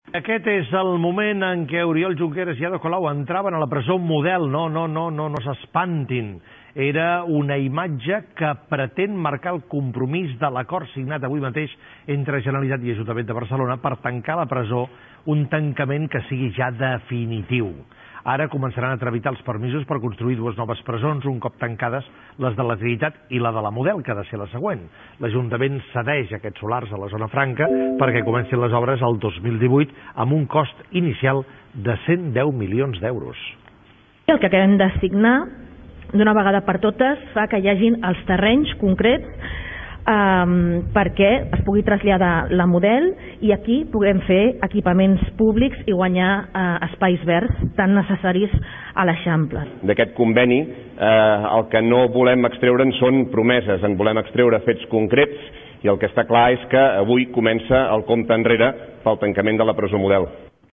Aquest és el moment en què Oriol Junqueras i Ada Colau entraven a la presó Model. No s'espantin. Era una imatge que pretén marcar el compromís de l'acord signat avui mateix entre Generalitat i Ajuntament de Barcelona per tancar la presó, un tancament que sigui ja definitiu. Ara començaran a tramitar els permisos per construir dues noves presons, un cop tancades les de la Trinitat i la de la Model, que ha de ser la següent. L'Ajuntament cedeix aquests solars a la zona franca perquè comencin les obres el 2018 amb un cost inicial de 110 milions d'euros. El que acabem de signar, d'una vegada per totes, fa que hi hagin els terrenys concrets perquè es pugui traslladar la Model i aquí puguem fer equipaments públics i guanyar espais verds tan necessaris a l'Eixample. D'aquest conveni el que no volem extreure'n són promeses, en volem extreure fets concrets i el que està clar és que avui comença el compte enrere pel tancament de la presó Model.